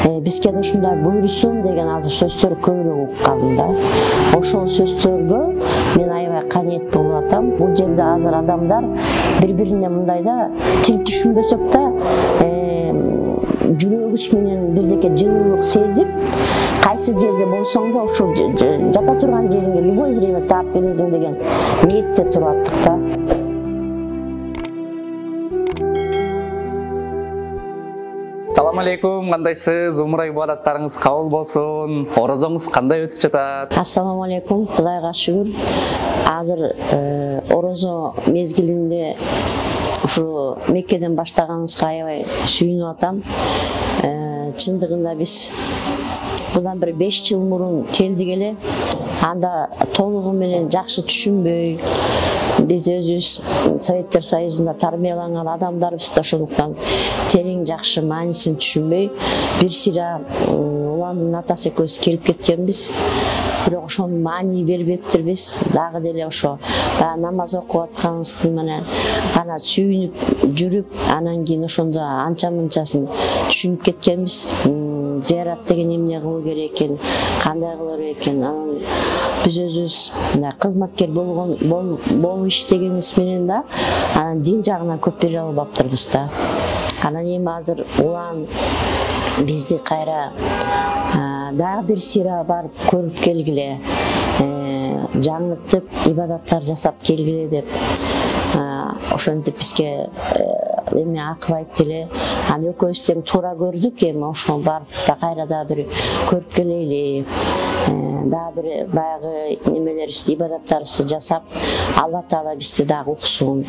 бизге да ушундай буйрусун деген азыр сөздөр көбүрөөк угуп калдым да. Ошол сөздөргө мен аябай канет болуп атам. Бул жерде азыр адамдар бири-бирине мындай да тил түшүнбөсөк да жүрөгүбүз менен бирдеке жылуулук сезип, кайсы жерде болсоң да ошол жата турган жериңе любой время таап келесиң деген ниетте туруп аттык да. Салам алейкум, кандайсыз? Умура ибадаттарыңыз кабыл болсун. Орозоңуз кандай өтүп жатат? Ассаламу алейкум, Кудайга шүгүр. Азыр орозо мезгилинде ушу Меккеден баштаганыбызга аябай сүйүнүп атам. Чындыгында биз bundan bir 5 yıl murun keldik ele, anda толугу менен жакшы түшүнбөй, биз өзүбүз Советтер Союзунда тарбияланган адамдарбыз да, ошондуктан терең жакшы маанисин түшүнбөй, бир сыйра уландын атасы экөөбүз келип кеткенбиз. Бирок ошонун маани бербептирбиз. Дагы деле ошо намаз окуп атканыбыздын менен гана сүйүнүп жүрүп, анан кийин ошондо анча-мынчасын түшүнүп кеткенбиз. Зиярат деген эмне кылуу керек экен, кандай кылуу керек экен. Анан биз өзүбүз кызматкер болуп иштегенибиз менен да анан дин жагынан көп бере албаптырбыз да. Анан эми азыр улан бизди кайра дагы бир сыйра барып көрүп келгиле, жаңыртып ибадаттар жасап келгиле деп ошентип бизге эми акыл айтты эле. Аны экөөбүз тең туура көрдүк, эми ошону барып да кайра да бир көрүп келели. Дагы бир баягы немелерибизди, ибадаттарыбызды жасап, Алла Таала бизди дагы уксун.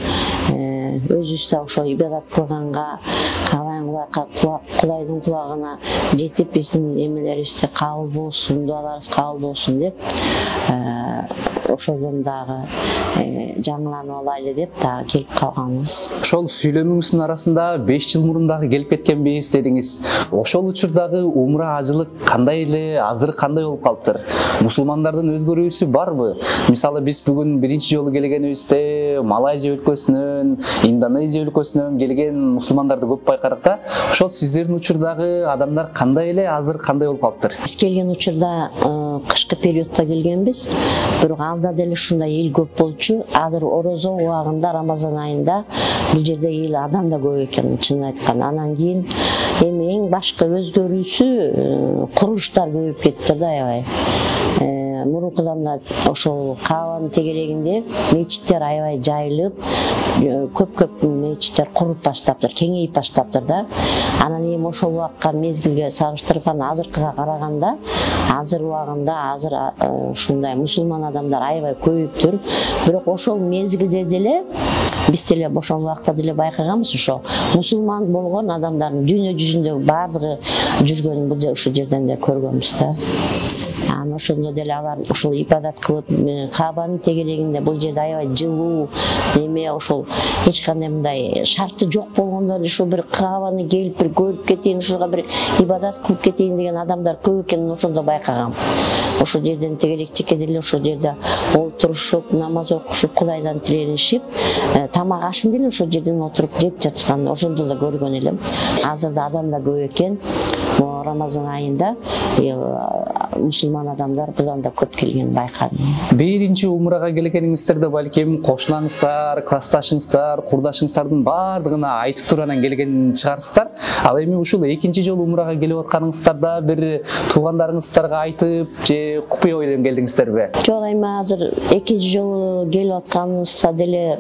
Өзүбүз да ошо ибадат кылганга, Кудайдын кулагына жетип, биздин эмелерибизди кабыл болсун, дуаларыбыз кабыл болсун деп, ошодон дагы жаңыланып алайлы деп дагы келип калганбыз. Ошол сүйлөмүңүздүн арасында 5 жыл мурун дагы келип кеткенбиз дедиңиз. Ошол учурдагы умра ажылык кандай эле, азыр кандай болуп калыптыр? Мусулмандардын өзгөрүүсү барбы? Мисалы биз бүгүн биринчи жолу келгенибизде Малайзия өлкөсүнөн, Индонезия өлкөсүнөн келген мусулмандарды көп байкадык да. Ошол сиздердин учурдагы адамдар кандай эле, азыр кандай болуп калыптыр? Биз келген учурда кышкы периодто келгенбиз. Бирок алда деле ушундай эл көп болчу. Азыр орозо убагында, Рамазан айында бул жерде эл адам да көп экен, чынын айтканда. Анан кийин эми эң башкы өзгөрүүсү курулуштар көбөйүп кетти да аябай. Мурункудан да ошол Каабанын тегерегинде мечиттер аябай жайылып, көп мечиттер куруп баштаптыр, кеңейип баштаптыр да. Анан эми ошол убакка мезгилге салыштырганда азыркыга караганда, азыр убагында азыр ушундай мусулман адамдар аябай көбөйүптүр. Бирок ошол мезгилде деле биз деле ошол убакта деле байкаганбыз, ошо мусулман болгон адамдардын дүйнө жүзүндөгү баардыгы жүргөнүн бул ушул жерден да көргөнбүз да. Анан ошондо деле алар ушул ибадат кылып, Каабанын тегерегинде бул жерде аябай жылуу, неме ошол эч кандай мындай шарты жок болгондо эле ушул бир Каабаны келип бир көрүп кетейин, ушуга бир ибадат кылып кетейин деген адамдар көп экенин ошондо байкагам. Ошол жерден тегерек чекеде эле ошол жерде отурушуп, намаз окушуп, Кудайдан тиленишип, тамак ашын деле ошол жерден отуруп жеп жаткан, ошондо да көргөн элем. Азыр да адам да көп экен. Рамазан айында мусулман адамдар бузан да көп келген байкадым. Биринчи умрага келгениңиздерде балким кошунаңыздар, классташыңыздар, курдашыңыздардын баардыгына айтып туруп анан келген чыгарсыздар. Ал эми ушул экинчи жолу умрага келип атканыңыздарда бир туугандарыңыздарга айтып же купуя ойдон келдиңиздерби? Жок, эми азыр экинчи жолу келип атканыбызда деле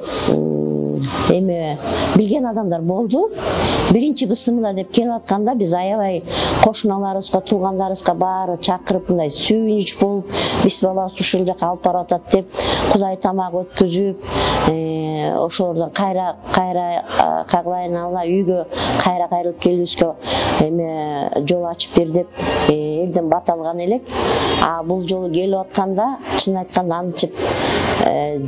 эми билген адамдар болду. Биринчи бысымыла деп келип атканда биз аябай кошуналарыбызга, туугандарыбызга баары чакырып мындай сүйүнүч болуп, биз балабызды ушул жака алып барып атат деп Кудай тамак өткүзүп, ошолордон кайра кагылайын Алла үйгө кайра кайрылып келүүбүзгө эми жол ачып бер деп элден бат алган элек. А бул жолу келип атканда чын айтканда антип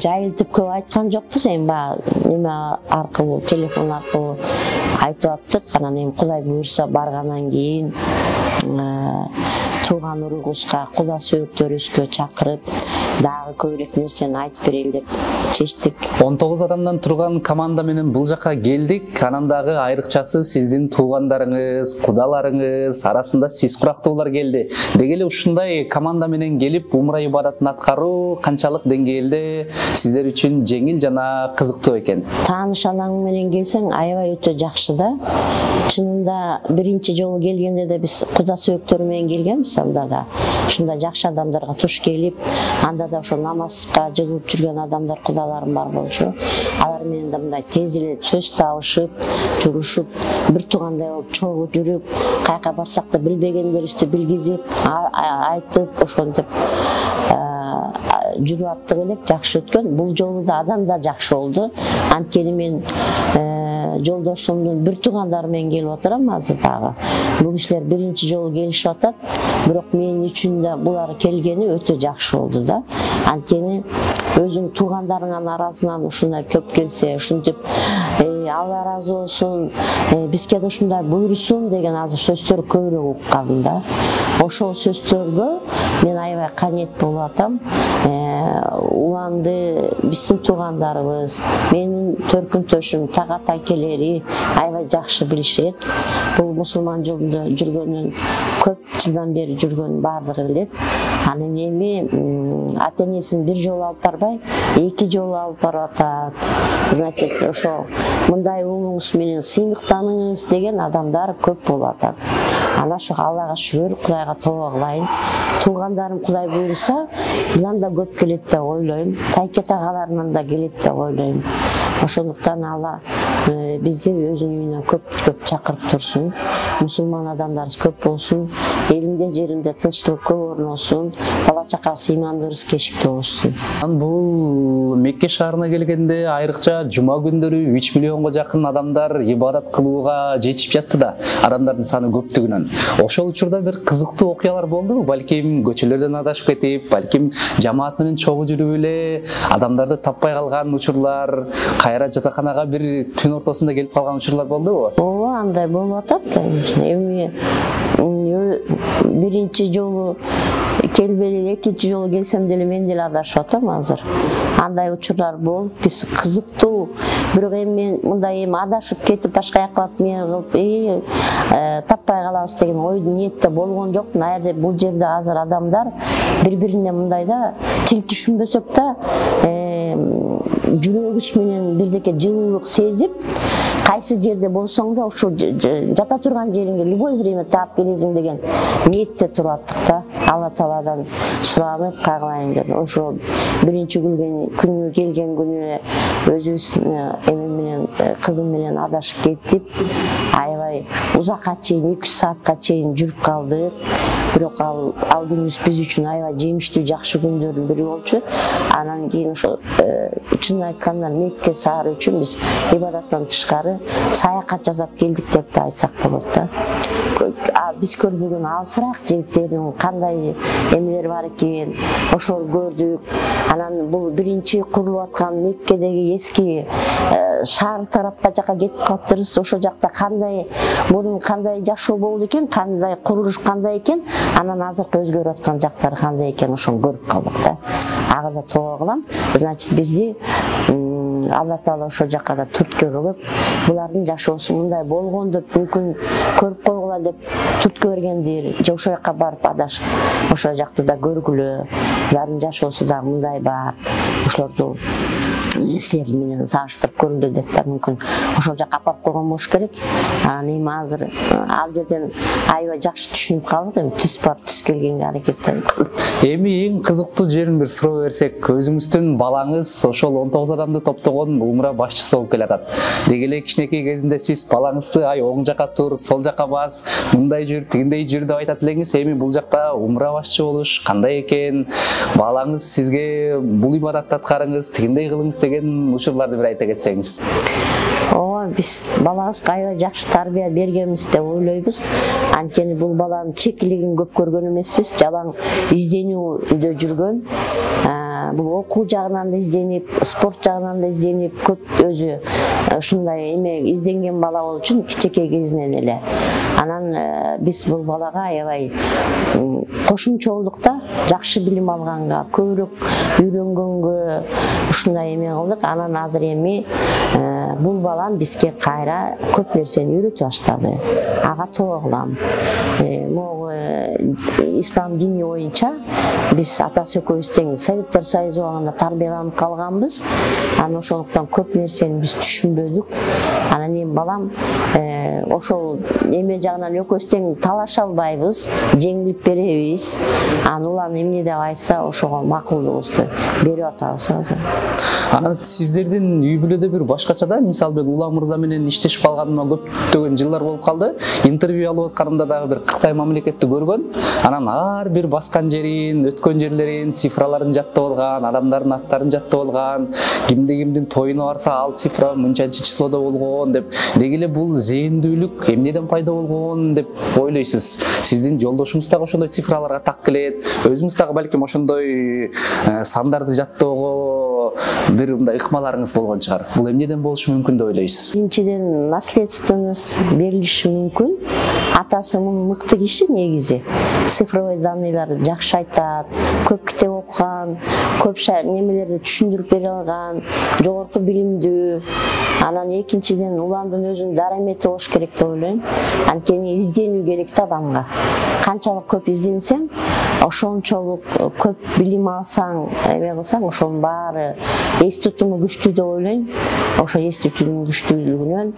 жайылтып көп айткан жокпуз, эми баягы неме аркылуу, телефон аркылуу айтып аттык. Анан эми Кудай буйрса баргандан кийин тууган уругубузга, куда сөөктөрүбүзгө чакырып дагы көбүрөөк нерсени айтып берели деп чечтик. 19 адамдан турган команда менен бул жака келдик. Анан дагы айрыкчасы сиздин туугандарыңыз, кудаларыңыз арасында сиз курактуулар келди. Деги эле ушундай команда менен келип умра ибадатын аткаруу канчалык деңгээлде сиздер үчүн жеңил жана кызыктуу экен? Тааныш анаң менен келсең аябай өтө жакшы да. Чынында биринчи жолу келгенде де биз куда сөөктөр менен келгенбиз, анда да ушундай жакшы адамдарга туш келип, анда да ошо намазга жыгылып жүргөн адамдар, кудаларым бар болчу. Алар менен да мындай тез эле сөз табышып, журушуп, бир туугандай болуп чогуу жүрүп, каяка барсак да билбегендерибизди билгизип, айтып, ошентип жүрүп аттык элек, жакшы өткөн. Бул жолу да адам да жакшы болду. Анткени мен жолдошумдун бир туугандары менен келип отурам азыр дагы. Бул кишилер биринчи жолу келишип атат, бирок мен үчүн да булар келгени өтө жакшы болду да. Анткени өзүң туугандарыңнын арасынан ушундай көп келсе, ушинтип Алла разы болсун, бизге да ушундай буйрусун деген азыр сөздөр көбүрөөк угуп калдым да. Ошол сөздөргө мен аябай канет болуп атам. Уланды биздин туугандарыбыз, менин төркүнтөшүм, тагат акелери аябай жакшы билишет. Бул мусулман жолунда жүргөнүн, көп жылдан бери жүргөнүн баардыгы билет. Анан эми ата-энесин бир жолу алып барбай, 2 жолу алып барып атат. Значит, ошо мындай уулуңуз менен сыймыктаныңыз деген адамдар көп болуп атат. Ана ошо Аллага шүгүр, Кудайга тобо кылайын. Туугандарым Кудай буйруса, мындан да көп келет деп ойлойм. Тайкет агаларынан да келет деп ойлойм. Ошондуктан Алла бизди өзүнүн үйүнө көп чакырып турсун. Мусулман адамдарыбыз көп болсун, элинде жеринде тынчтык көп орносун, бала чакасы ыймандыбыз кешиктүү болсун. Бул Мекке шаарына келгенде айрыкча жума күндөрү 3 миллионго жакын адамдар ибадат кылууга жетип жатты да, адамдардын саны көптүгүнөн. Ошол учурда бир кызыктуу окуялар болдубу? Балким көчөлөрдөн адашып кетип, балким жамаат менен чогуу жүрүп эле адамдарды таппай калган учурлар, кайра жатаканага бир түн ортосунда келип калган учурлар болдубу? Ооба, андай болуп атат. Эми биринчи жолу келбели, экинчи жолу келсем деле мен деле адашып атам азыр. Андай учурлар болуп, биз кызыктуу. Бирок эми мен мындай адашып кетип башка жака барып таппай калабыз деген ой ниетте болгон жокмун. Аерде бул жерде азыр адамдар бири-бирине мындай да тил түшүнбөсөк да жүрөгүбүз менен бирдеке жылуулук сезип, кайсы жерде болсоң да ошо жата турган жериңге любой время таап келесиң деген ниетте туруп аттык да. Алла Тааладан суранып кайгылайын деп. Ошо биринчи күнү келген күнү эле өзүбүз эми менен кызым менен адашып кеттип, аябай узакка чейин 2 саатка чейин жүрүп калдык. Бирок ал күнүбүз биз үчүн аябай жемиштүү, жакшы күндөрдүн бири болчу. Анан кийин ошо чын айтканда Мекке шаары үчүн биз ибадаттан тышкары саякат жасап келдик деп да айтсак болот да. Биз көрбөгөн алысыраак жигиттердин кандай эмелери бар экен, ошол көрдүк. Анан бул биринчи курулуп аткан Меккедеги эски шаар тарапка жака кетип калыптырбыз. Ошол жакта кандай мурун кандай жашоо болду экен, кандай курулуш кандай экен, анан азыркы өзгөрүп аткан жактары кандай экен, ошону көрүп калдык да. Ага да тобо кылам. Значит, бизди Алла Таала ошол жака да түрткү кылып, булардын жашоосу мындай болгон деп мүмкүн көрүп койгула деп түрткү бергендир. Же ошол жака барып адашып, ошол жакты да көргүлө. Булардын жашоосу да мындай бар. Ошолорду силер менен сагаштырып көргүлө деп да мүмкүн ошол жака апарып койгон болуш керек. Анан эми азыр ал жерден аябай жакшы түшүнүп калдык. Эми түз барып түз келгенге аракеттенип калдык. Эми эң кызыктуу жерин бир суроо берсек, өзүңүздүн балаңыз ошол 19 адамды топтогон умра башчысы болуп келатат. Деги эле кичинекей кезинде сиз балаңызды оң жака тур, сол жака бас, мындай жүр, тигиндей жүр деп айтат элеңиз. Эми бул жакта умра башчы болуш кандай экен? Балаңыз сизге бул ибадатты аткарыңыз, тигиндей кылыңыз деген учурларды бир айта кетсеңиз. Ооба, биз балабызга аябай жакшы тарбия бергенбиз деп ойлойбуз. Анткени бул баланын чекилигин көп көргөн эмеспиз, жалаң изденүүдө жүргөн. Бул окуу жагынан да изденип, спорт жагынан да изденип, көп өзү ушундай эме изденген бала болуу үчүн кичинекей кезинен эле. Анан биз бул балага аябай кошумчолукта жакшы билим алганга, көбүрөөк үйрөнгөнгө ушундай эме кылдык. Анан азыр эми бул балам бизге кайра көп нерсени үйрөтүп баштады. Ага тоо кылам. Могу ислам дини боюнча биз атасы экөөбүз тең Советтер Союзу убагында тарбияланып калганбыз. Анан ошондуктан көп нерсени биз түшүнбөдүк. Анан эми балам ошол эме жагынан экөөбүз тең талаша албайбыз, жеңилип беребиз. Анан улан эмне деп айтса ошого макулдугубузду берип атабыз азыр. Анан сиздердин үй бүлөдө бир башкача да, мисалы мен Улам мырза менен иштешип калганыма көптөгөн жылдар болуп калды. Интервью алып атканымда дагы бир Кытай мамлекетти көргөн. Анан ар бир баскан жерин, өткөн жерлерин, цифраларын жаттап алган, адамдардын аттарын жаттап алган, кимдин тоюна барса ал цифра мынчанчы числодо болгон деп. Деги эле бул зээндүүлүк эмнеден пайда болгон деп ойлойсуз? Сиздин жолдошуңуз дагы ошондой цифраларга так келет. Өзүңүз дагы балким ошондой сандарды жаттоого бир мындай ыкмаларыңыз болгон чыгар. Бул эмнеден болушу мүмкүн деп ойлойсуз? Биринчиден наследственность берилиши мүмкүн. Атасы мыкты киши негизи. Цифровой данныйларды жакшы айтат, көп китеп окуган, көп немелерди түшүндүрүп бере алган, жогорку билимдүү. Анан экинчиден уландын өзүнүн дарамети болуш керек деп ойлойм. Анткени изденүү керек да адамга. Канчалык көп изденсең, ошончолук көп билим алсаң, эме кылсаң, ошонун баары эс тутуму күчтүү деп ойлойм. Ошо эс тутумунун күчтүүлүгүнөн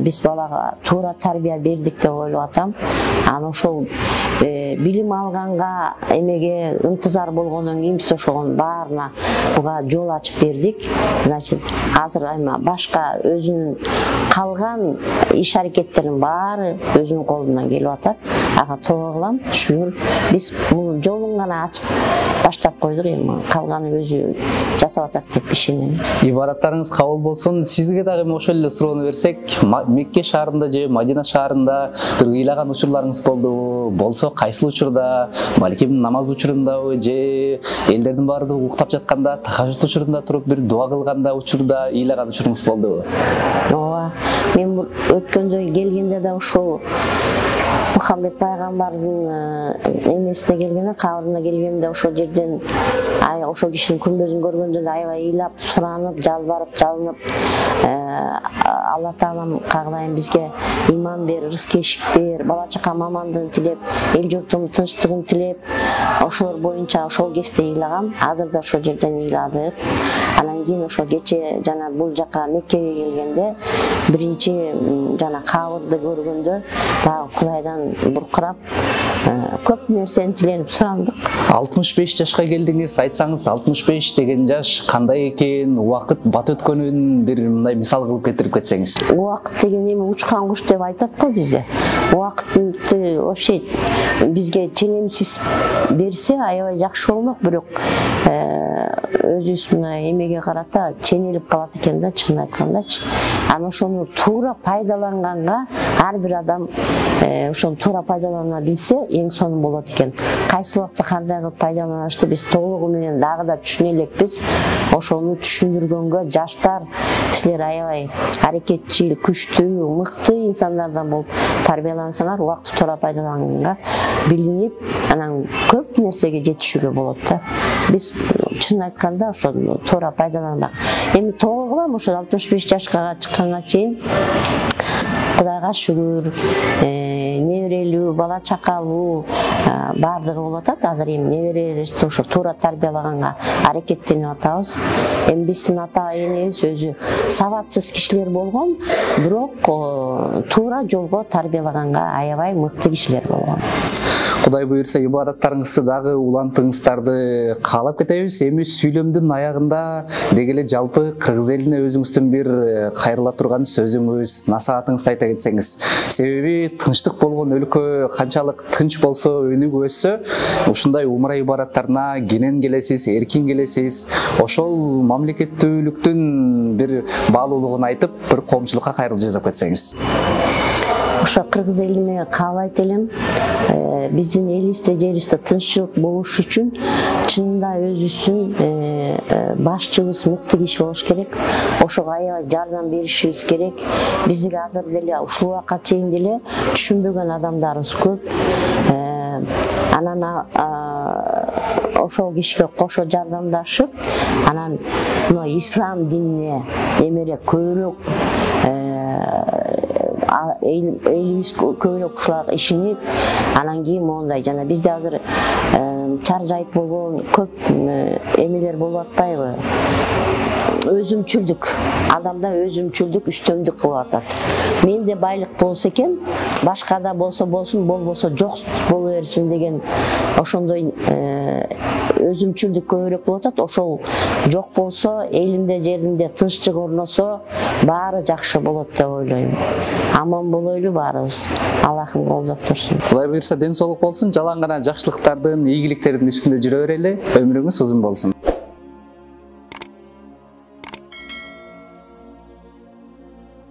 биз балага туура тарбия бердик деп ойлоп атам. Анан ошол билим алганга эмеге ынтызар болгондон кийин биз ошонун баарына буга жол ачып бердик. Значит, азыр эми башка өзүнүн калган иш аракеттеринин баары өзүнүн колунан келип атат. Ага тоо кылам. Шүгүр биз бул жолун гана ачып баштап койдук, эми калганы өзү жасап атат деп ишенем. Ибараттарыңыз кабыл болсун. Сизге дагы ошол эле суроону берсек, Мекке шаарында же Мадина шаарында бир ыйлаган учурларыңыз болдубу? Болсо кайсыл учурда? Балким намаз учурундабы же элдердин баардыгы уктап жатканда, тахажжуд учурунда туруп бир дуа кылганда учурда ыйлаган учуруңуз болдубу? Ооба. Мен өткөндө келгенде да ушул Мухаммед пайгамбардын эмесине келгенде, кабырына келгенде ошол жерден ошол кишинин күмбөзүн көргөндө да аябай ыйлап, суранып, жалбарып, жалынып, Алла Таалам кагылайын бизге иман бер, рызык эшик бер, бала чакам амандыгын тилеп, эл журтумдун тынчтыгын тилеп, ошолор боюнча ошол кезде ыйлагам. Азыр да ошол жерден ыйладык. Анан кийин ошол кече жана бул жака Меккеге келгенде биринчи жана кабырды көргөндө дагы Кудайдан буркурап көп нерсени тиленип сурандык. 65 жашка келдиңиз, айтсаңыз 65 деген жаш кандай экен, убакыт бат өткөнүн бир мындай мисал кылып кетирип кетсеңиз. Убакыт деген эми учкан куш деп айтат го бизде. Убакытты вообще бизге ченемсиз берсе аябай жакшы болмок, бирок өзүбүз мына эмеге карата ченелип калат экен да, чынын айткандачы. Анан ошону туура пайдаланганга ар бир адам ошону туура пайдалана билсе эң сонун болот экен. Кайсы убакта кандай кылып пайдаланышты биз толугу менен дагы да түшүнө элекпиз. Ошону түшүндүргөнгө жаштар силер аябай аракетчил, күчтүү, мыкты инсандардан болуп тарбиялансаңар, убакытты туура пайдаланганга билинип, анан көп нерсеге жетишүүгө болот да. Биз чын айтканда ошону туура пайдаланбак. Эми тоо кылам ошо 65 жашка чыкканга чейин Кудайга шүгүр, неберелүү, бала чакалуу баардыгы болуп атат. Азыр эми неберебизди ошо туура тарбиялаганга аракеттенип атабыз. Эми биздин ата энебиз өзү сабатсыз кишилер болгон, бирок туура жолго тарбиялаганга аябай мыкты кишилер болгон. Кудай буйрса ибадаттарыңызды дагы улантыңыздарды каалап кетебиз. Эми сүйлөмдүн аягында деги эле жалпы кыргыз элине өзүңүздүн бир кайрыла турган сөзүңүз, насаатыңызды айта кетсеңиз. Себеби тынчтык болгон өлкө канчалык тынч болсо, өнүгүп өссө, ушундай умра ибадаттарына кенен келесиз, эркин келесиз. Ошол мамлекеттүүлүктүн бир баалуулугун айтып, бир коомчулукка кайрылуу жасап кетсеңиз. Ошо кыргыз элине каалайт элем, биздин элибизде, жерибизде тынччылык болуш үчүн чынында өзүбүздүн башчыбыз мыкты киши болуш керек. Ошого аябай жардам беришибиз керек. Биздики азыр деле ушул убакка чейин деле түшүнбөгөн адамдарыбыз көп. Анан ошол кишиге кошо жардамдашып, анан мына ислам динине эмерээк көбүрөөк элибиз көбүрөөк ушуларга ишенип, анан кийин мондай жана бизде азыр чаржайт болгон көп эмелер болуп атпайбы? Өзүмчүлдүк, адамда өзүмчүлдүк үстөмдүк кылып атат. Менде байлык болсо экен, башкада болсо болсун, болбосо жок боло берсин деген ошондой өзүмчүлдүк көбүрөөк болуп атат. Ошол жок болсо, элимде, жеримде тынччылык орносо, баары жакшы болот деп ойлойм. Аман болойлу баарыбыз. Аллахым колдоп турсун. Кудай буйрса ден соолук болсун, жалаң гана жакшылыктардын, ийгиликтердин үстүндө жүрө берели. Өмүрүңүз узун болсун.